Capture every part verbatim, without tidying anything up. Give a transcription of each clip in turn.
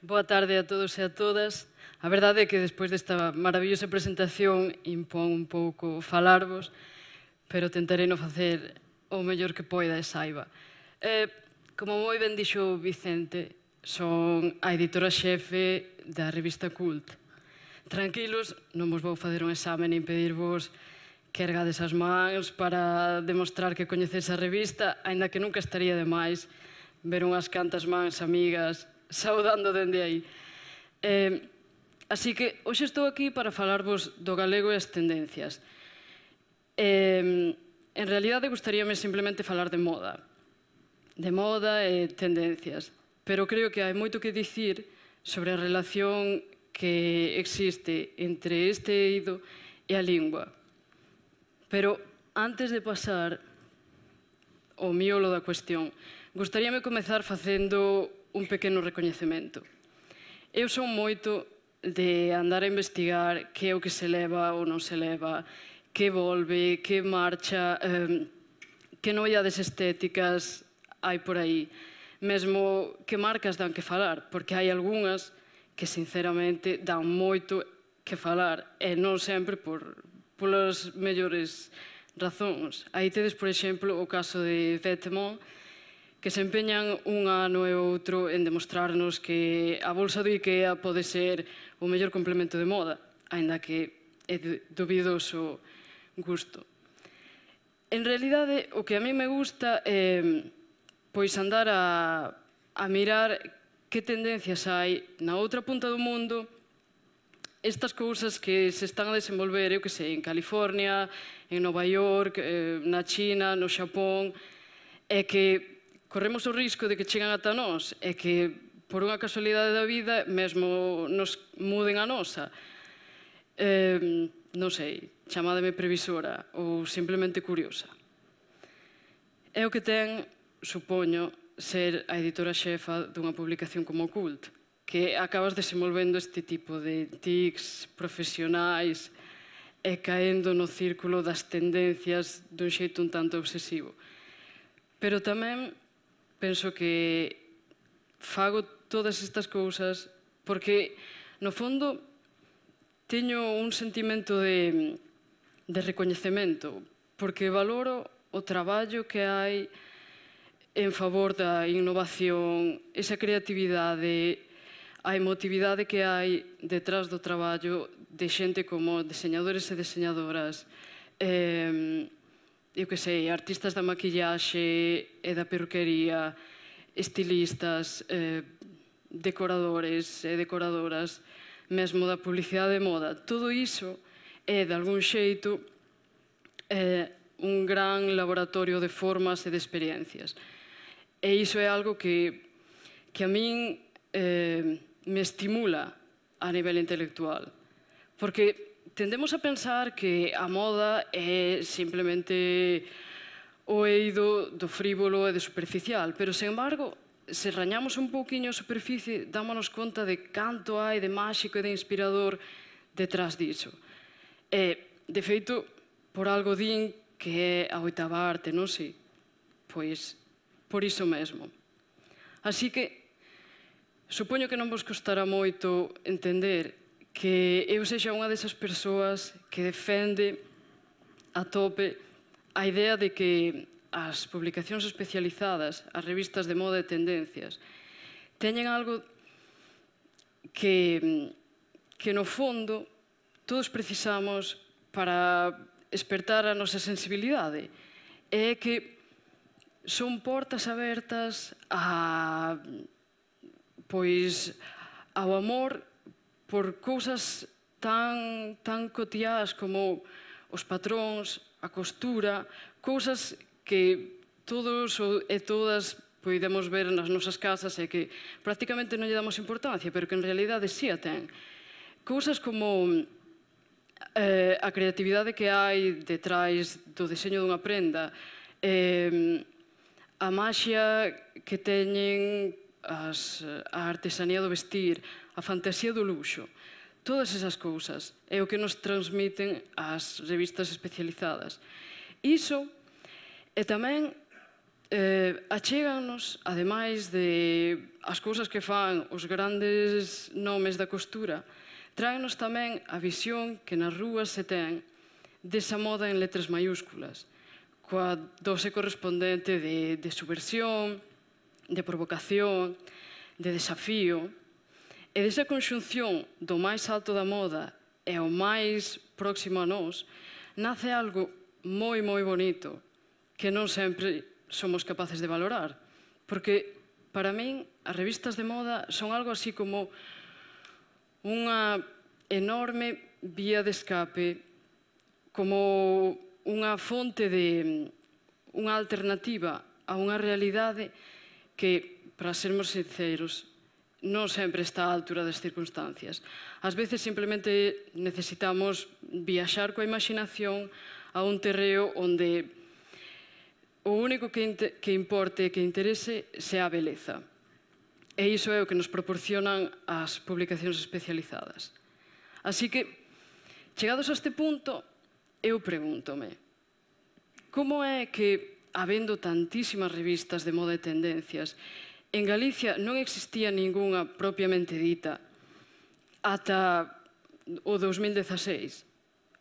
Boa tarde a todos e a todas. A verdade é que despois desta maravillosa presentación impón un pouco falarvos, pero tentarei non facer o mellor que poida e saiba. Eh, como moi ben dixo Vicente, son a editora xefe da revista Cult. Tranquilos, non vos vou facer un exame nin pedirvos que ergades as mans para demostrar que coñecedes a revista, aínda que nunca estaría de máis ver unhas cantas mans amigas saudando dende aí. Eh, así que hoxe estou aquí para falarvos do galego e as tendencias. Eh, en realidade, gustaríame simplemente falar de moda. De moda e tendencias. Pero creo que hai moito que dicir sobre a relación que existe entre este eido e a lingua. Pero antes de pasar ao miolo da cuestión, gustaríame comezar facendo un pequeno recoñecemento. Eu son moito de andar a investigar que é o que se leva ou non se leva, que volve, que marcha, eh, que novidades estéticas hai por aí, mesmo que marcas dan que falar, porque hai algunhas que sinceramente dan moito que falar e non sempre por, polas mellores razóns. Aí tedes, por exemplo, o caso de Vetements, que se empeñan un ano e outro en demostrarnos que a bolsa do IKEA pode ser o mellor complemento de moda, aínda que é de dubidoso gusto. En realidade, o que a mí me gusta é pois andar a, a mirar que tendencias hai na outra punta do mundo, estas cousas que se están a desenvolver, eu que sei, en California, en Nova York, na China, no Xapón, é que corremos o risco de que chegan ata nós e que, por unha casualidade da vida, mesmo nos muden a nosa. Eh, non sei, chamádeme previsora ou simplemente curiosa. É o que ten, supoño, ser a editora xefa dunha publicación como Cult, que acabas desenvolvendo este tipo de tics profesionais e caendo no círculo das tendencias dun xeito un tanto obsesivo. Pero tamén penso que fago todas estas cousas porque, no fondo, teño un sentimento de, de recoñecemento, porque valoro o traballo que hai en favor da innovación, esa creatividade, a emotividade que hai detrás do traballo de xente como deseñadores e deseñadoras, eh, eu que sei, artistas da maquillaxe e da perruquería, estilistas, eh, decoradores e decoradoras, mesmo da publicidade de moda. Todo iso é, de algún xeito, eh, un gran laboratorio de formas e de experiencias. E iso é algo que, que a min eh, me estimula a nivel intelectual. Porque tendemos a pensar que a moda é simplemente o eido do frívolo e do superficial, pero, sen embargo, se rañamos un pouquiño a superficie, dámonos conta de canto hai de máxico e de inspirador detrás diso. E, de feito, por algo din que é a oitava arte, non sei? Pois, por iso mesmo. Así que, supoño que non vos costará moito entender que eu sexa unha desas persoas que defende a tope a idea de que as publicacións especializadas, as revistas de moda e tendencias, teñen algo que, que no fondo, todos precisamos para espertar a nosa sensibilidade. É que son portas abertas a, pois, ao amor por cousas tan, tan cotiás como os patróns, a costura, cousas que todos e todas podemos ver nas nosas casas e que prácticamente non lle damos importancia, pero que en realidade sí a ten. Cousas como eh, a creatividade que hai detrás do deseño dunha prenda, eh, a maxia que teñen as, a artesanía do vestir, a fantasía do luxo. Todas esas cousas é o que nos transmiten as revistas especializadas. Iso é tamén eh, achéganos, ademais de as cousas que fan os grandes nomes da costura, tráenos tamén a visión que nas rúas se ten desa moda en letras maiúsculas, coa dose correspondente de, de subversión, de provocación, de desafío, e desa conxunción do máis alto da moda e o máis próximo a nós, nace algo moi, moi bonito, que non sempre somos capaces de valorar. Porque, para min, as revistas de moda son algo así como unha enorme vía de escape, como unha fonte de unha alternativa a unha realidade que, para sermos sinceros, non sempre está á altura das circunstancias. Ás veces simplemente necesitamos viaxar coa imaginación a un terreo onde o único que, que importe e que interese sea a beleza. E iso é o que nos proporcionan as publicacións especializadas. Así que, chegados a este punto, eu pregúntome, como é que, habendo tantísimas revistas de moda e tendencias, en Galicia non existía ningunha propiamente dita ata o dos mil dezaseis?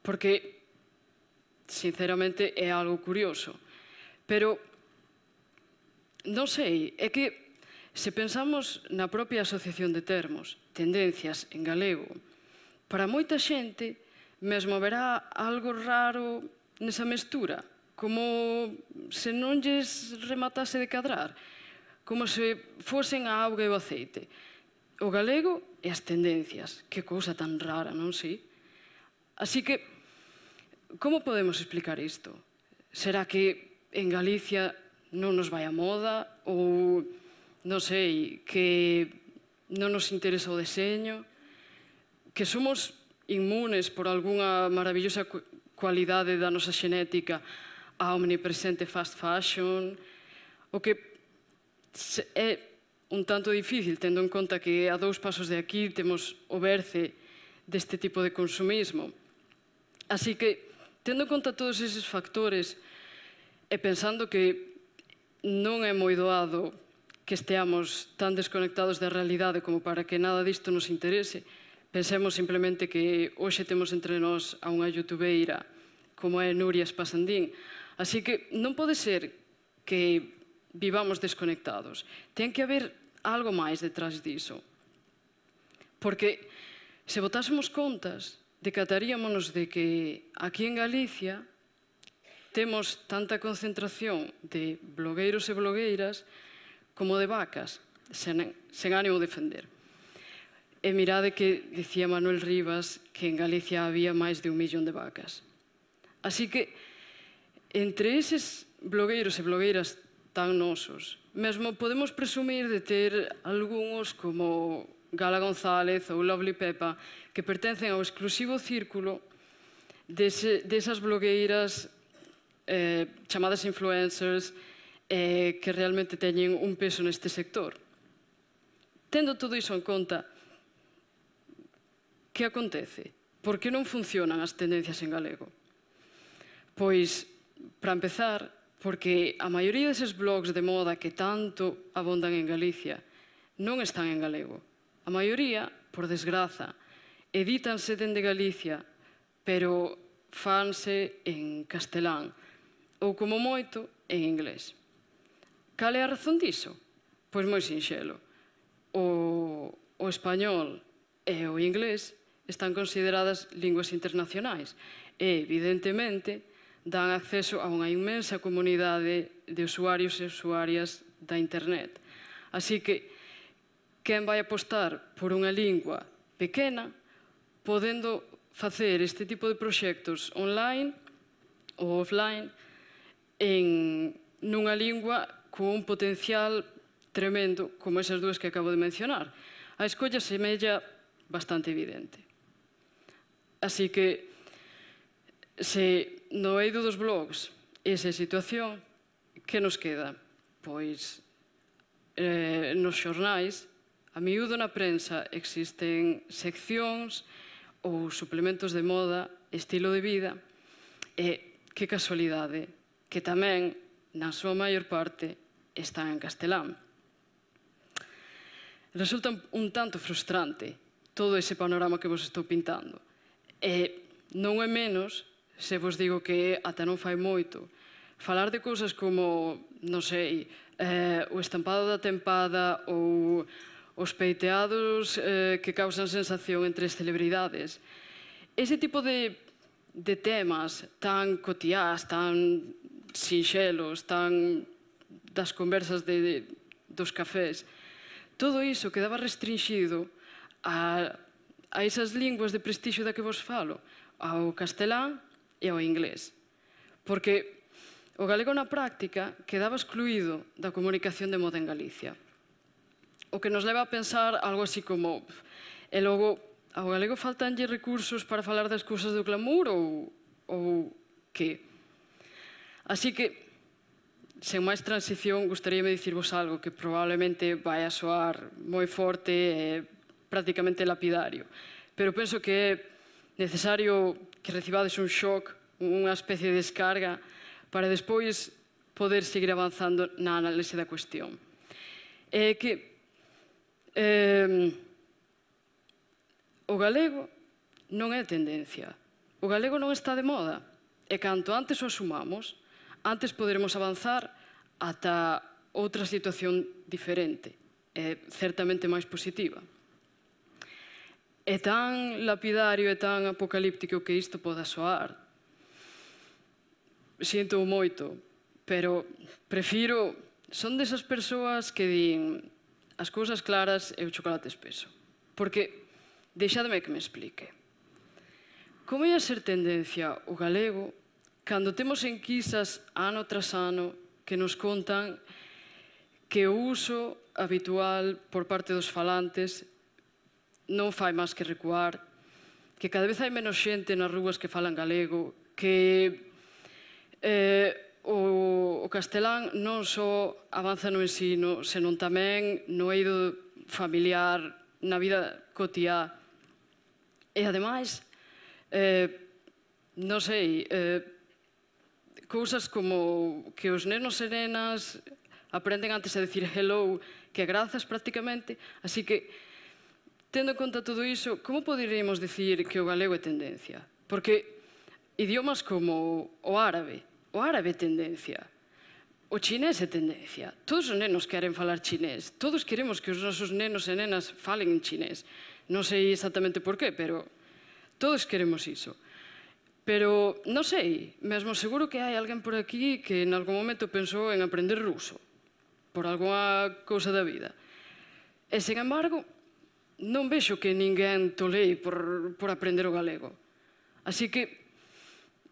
Porque, sinceramente, é algo curioso. Pero, non sei, é que se pensamos na propia asociación de termos, tendencias en galego, para moita xente mesmo verá algo raro nesa mestura, como se non lles rematase de cadrar, como se fosen a auga e o aceite. O galego e as tendencias, que cousa tan rara, non si? Así que, como podemos explicar isto? Será que en Galicia non nos vai a moda, ou, non sei, que non nos interesa o deseño, que somos inmunes por algunha maravillosa cualidade da nosa xenética a omnipresente fast fashion, o que é un tanto difícil, tendo en conta que a dous pasos de aquí temos o berce deste tipo de consumismo. Así que, tendo en conta todos eses factores, e pensando que non é moi doado que esteamos tan desconectados da realidade como para que nada disto nos interese, pensemos simplemente que hoxe temos entre nós a unha youtubeira como é Nuria Espasandín. Así que non pode ser que vivamos desconectados. Ten que haber algo máis detrás diso. Porque se botásemos contas, decataríamonos de que aquí en Galicia temos tanta concentración de blogueiros e blogueiras como de vacas, sen, sen ánimo de defender. E mirade que dicía Manuel Rivas que en Galicia había máis de un millón de vacas. Así que, entre eses blogueiros e blogueiras tan nosos, mesmo podemos presumir de ter algúns como Gala González ou Lovely Pepa que pertencen ao exclusivo círculo dese, desas blogueiras eh, chamadas influencers eh, que realmente teñen un peso neste sector. Tendo todo iso en conta, que acontece? Por que non funcionan as tendencias en galego? Pois, para empezar, porque a maioría deses blogs de moda que tanto abondan en Galicia non están en galego. A maioría, por desgraza, edítanse dende Galicia, pero fanse en castelán, ou como moito, en inglés. Cal é a razón diso? Pois moi sinxelo. O, o español e o inglés están consideradas linguas internacionais e, evidentemente, dan acceso a unha inmensa comunidade de usuarios e usuarias da internet. Así que, quen vai apostar por unha lingua pequena, podendo facer este tipo de proxectos online ou offline en nunha lingua con un potencial tremendo como esas dúas que acabo de mencionar. A escolla semella bastante evidente. Así que, se no eido dos blogs esa situación, que nos queda? Pois, eh, nos xornais, a miúdo na prensa existen seccións ou suplementos de moda, estilo de vida, e que casualidade, que tamén na súa maior parte, están en castelán. Resulta un tanto frustrante todo ese panorama que vos estou pintando. E non é menos se vos digo que ata non fai moito falar de cousas como, non sei, eh, o estampado da tempada ou os peiteados eh, que causan sensación entre as celebridades. Ese tipo de, de temas tan cotiás, tan sinxelos, tan das conversas de, de, dos cafés, todo iso quedaba restringido a, a esas linguas de prestixio da que vos falo, ao castelán e ao inglés. Porque o galego na práctica quedaba excluído da comunicación de moda en Galicia. O que nos leva a pensar algo así como e logo, ao galego faltanlle recursos para falar das cousas do glamour ou, ou que? Así que, sen máis transición, gustaríame dicirvos algo que probablemente vai a soar moi forte e prácticamente lapidario. Pero penso que é necesario que recibades un shock, unha especie de descarga, para despois poder seguir avanzando na análise da cuestión. É que eh, o galego non é tendencia. O galego non está de moda. E canto antes o asumamos, antes poderemos avanzar ata outra situación diferente, e certamente máis positiva. É tan lapidario e tan apocalíptico que isto poda soar. Sinto moito, pero prefiro... Son desas persoas que din as cousas claras e o chocolate espeso. Porque, deixadme que me explique. Como ia ser tendencia o galego cando temos enquisas ano tras ano que nos contan que o uso habitual por parte dos falantes non fai máis que recuar, que cada vez hai menos xente nas rúas que falan galego, que eh, o, o castelán non só avanza no ensino, senón tamén no eido familiar, na vida cotiá. E, ademais, eh, non sei, eh, cousas como que os nenos e nenas aprenden antes a decir hello que grazas prácticamente, así que tendo en conta todo iso, como poderíamos dicir que o galego é tendencia? Porque idiomas como o árabe, o árabe é tendencia, o chinés é tendencia. Todos os nenos queren falar chinés, todos queremos que os nosos nenos e nenas falen en chinés. Non sei exactamente por qué, pero todos queremos iso. Pero, non sei, mesmo seguro que hai alguén por aquí que en algún momento pensou en aprender ruso, por algunha cousa da vida. E, sen embargo, non vexo que ninguén tolei por, por aprender o galego. Así que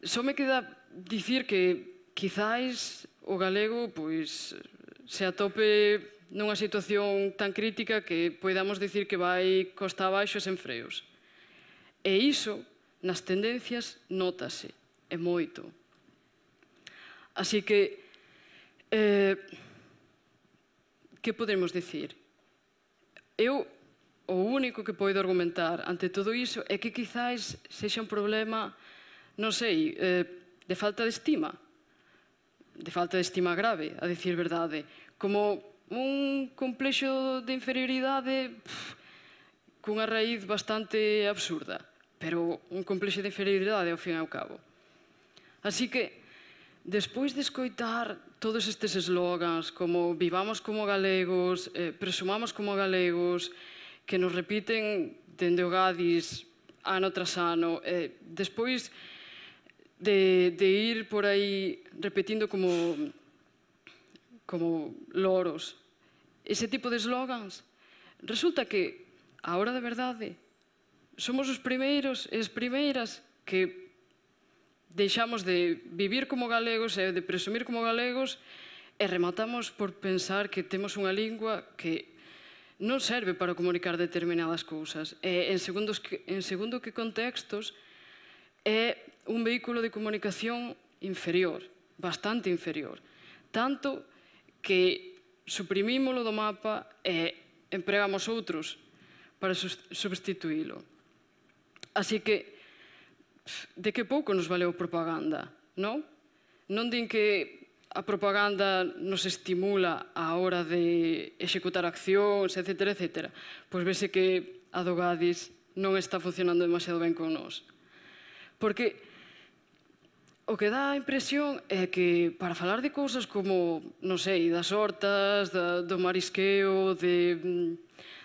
só me queda dicir que quizáis o galego pois, se atope nunha situación tan crítica que poidamos dicir que vai costa abaixo e sen freos. E iso, nas tendencias, nótase, e moito. Así que, eh, que podemos dicir? Eu, o único que poido argumentar ante todo iso é que quizáis sexa un problema, non sei, eh, de falta de estima, de falta de estima grave, a dicir verdade, como un complexo de inferioridade pff, cunha raíz bastante absurda, pero un complexo de inferioridade ao fin e ao cabo. Así que, despois de escoitar todos estes eslogans como vivamos como galegos, eh, presumamos como galegos, que nos repiten dende o Gadis ano tras ano, eh, despois de, de ir por aí repetindo como, como loros ese tipo de eslogans, resulta que, a hora da verdade, somos os primeiros e as primeiras que deixamos de vivir como galegos e de presumir como galegos e rematamos por pensar que temos unha lingua que non serve para comunicar determinadas cousas. E, en, segundos que, en segundo que contextos, é un vehículo de comunicación inferior, bastante inferior. Tanto que suprimímolo do mapa e empregamos outros para substituílo. Así que, de que pouco nos valeu propaganda, non? Non din que a propaganda nos estimula a hora de executar accións, etcétera, etcétera, pois vese que a do Gadis non está funcionando demasiado ben con nós. Porque o que dá a impresión é que para falar de cousas como, non sei, das hortas, do marisqueo,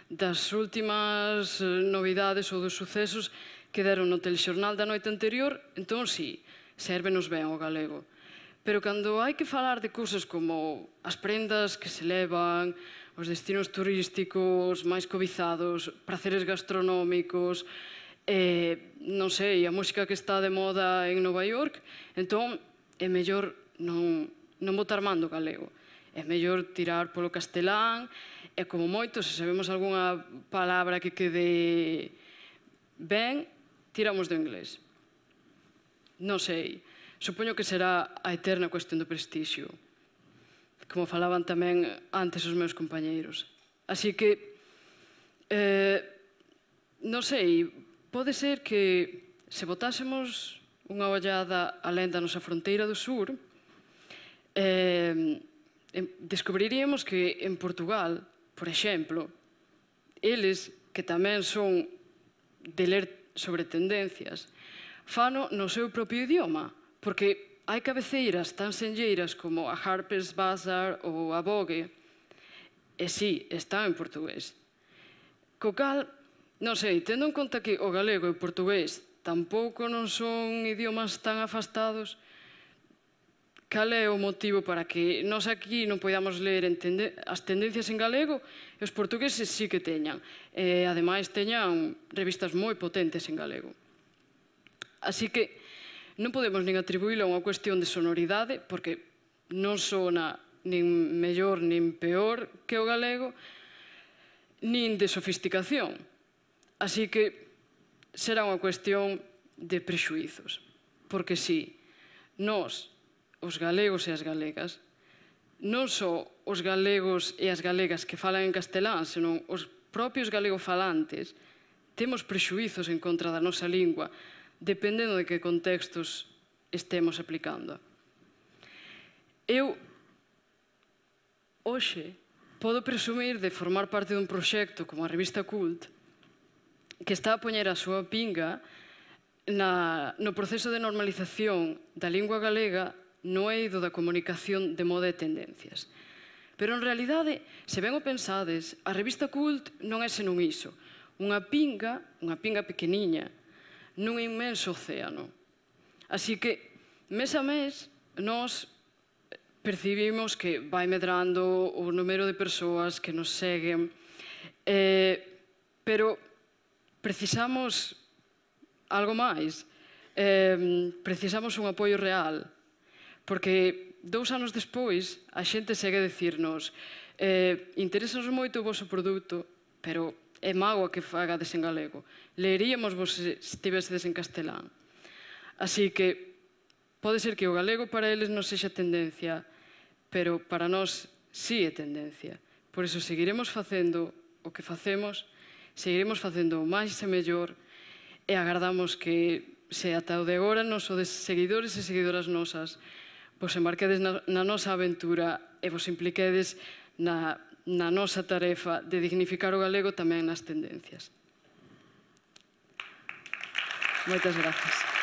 das últimas novidades ou dos sucesos que deron no telexornal da noite anterior, entón sí, sérvenos ben o galego. Pero cando hai que falar de cousas como as prendas que se levan, os destinos turísticos máis cobizados, praceres gastronómicos, eh, non sei, a música que está de moda en Nova York, entón é mellor non, non botar mando galego. É mellor tirar polo castelán e, como moito, se sabemos algunha palabra que quede ben, tiramos do inglés. Non sei. Supoño que será a eterna cuestión do prestixio, como falaban tamén antes os meus compañeiros. Así que, eh, non sei, pode ser que se botásemos unha ollada alén da nosa fronteira do sur, eh, descubriríamos que en Portugal, por exemplo, eles, que tamén son de ler sobre tendencias, fano no seu propio idioma, porque hai cabeceiras tan senlleiras como a Harper's Bazaar ou a Vogue, e sí, están en portugués. Co cal, non sei, tendo en conta que o galego e o portugués tampouco non son idiomas tan afastados, cal é o motivo para que nós aquí non podamos ler as tendencias en galego e os portugueses sí que teñan, e ademais teñan revistas moi potentes en galego. Así que non podemos nin atribuílo a unha cuestión de sonoridade, porque non sona nin mellor nin peor que o galego, nin de sofisticación. Así que será unha cuestión de prexuízos. Porque si, nós, os galegos e as galegas, non só os galegos e as galegas que falan en castelán, senón os propios galegofalantes, temos prexuízos en contra da nosa lingua, dependendo de que contextos estemos aplicando. Eu, hoxe, podo presumir de formar parte dun proxecto como a revista Cult que está a poñer a súa pinga no proceso de normalización da lingua galega no eido da comunicación de moda e tendencias. Pero, en realidade, se ben o pensades, a revista Cult non é senón iso, unha pinga, unha pinga pequeniña, nun inmenso océano. Así que, mes a mes, nós percibimos que vai medrando o número de persoas que nos seguen, pero precisamos algo máis. Precisamos un apoio real, porque dous anos despois a xente segue a dicirnos interesanos moito o voso produto, pero é mágoa que fagades en galego. Leeríamos vos se estivesedes en castelán. Así que pode ser que o galego para eles non sexa tendencia, pero para nós sí é tendencia. Por iso seguiremos facendo o que facemos, seguiremos facendo o máis e mellor, e agardamos que se ata o de agora nos sodes seguidores e seguidoras nosas, vos embarquedes na nosa aventura e vos impliquedes na na nosa tarefa de dignificar o galego tamén nas tendencias. Moitas grazas.